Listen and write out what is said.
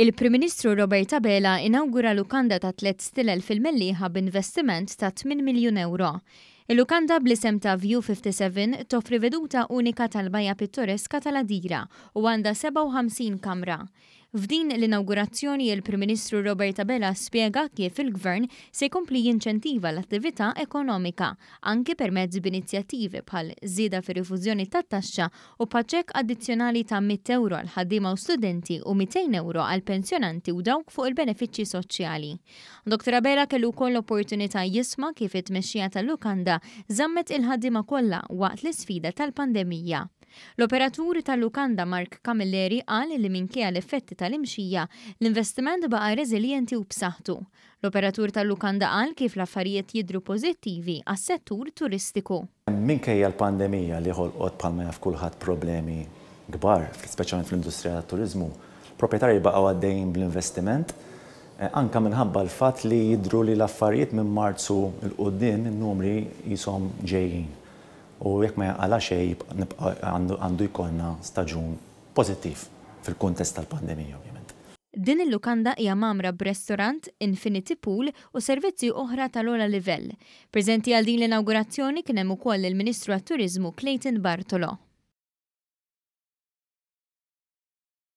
Il-Prim Ministru Robert Abela inawgura lukanda ta' tlett stilel fil-Mellieħa b'investiment ta' 8 miljun ewro. Il-lukanda bl-isem ta' View 57 toffri veduta unika tal-bajja pittoreska tal-Għadira u għandha 57 kamra. F'din l-inawgurazzjoni il-Prim Ministru Robert Abela spjega kif il-Gvern se jkompli jinċentiva l-attività ekonomika, anki permezz b'inizjattivi bħal żieda fir-rifużjoni tat-taxxa u bħaċ-ċekk addizzjonali ta' 100 ewro għal ħaddiema u studenti u 200 ewro għal pensjonanti u dawk fuq il-benefiċċji soċjali. Dottor Abela kellu wkoll l-opportunità jisma' kif it-tmexxija tal-lukanda żammet il-ħaddiema kollha waqt l-isfida tal-pandemija. L-operatur tal-lukanda Mark Camilleri qal li minkejja l-effetti tal-imxija, l-investiment baqa' reżiljenti u b'saħħtu. L-operatur tal-lukanda qal kif l-affarijiet jidhru pożittivi għas-settur turistiku. Minkejja l-pandemija li ħolqot bħalma jaf kulħadd problemi kbar, speċjalment fl-industrija tat-turiżmu, l-proprjetarji baqgħu għaddejjin bl-investiment anke minħabba l-fatt li jidhru li l-affarijiet minn Marzu 'l quddiem in-numri qishom ġejjin. U jekk ma jinqala' xejn nibqa' għandu jkollna staġun pożittiv fil-kuntest tal-pandemija ovvjament. Din il-lukanda hija mgħammra b'restorant, infinity pool u servizzi oħra tal-ogħla livell. Preżenti għal din l-inawgurazzjoni kien hemm ukoll il-Ministru għat-Turiżmu Clayton Bartolo.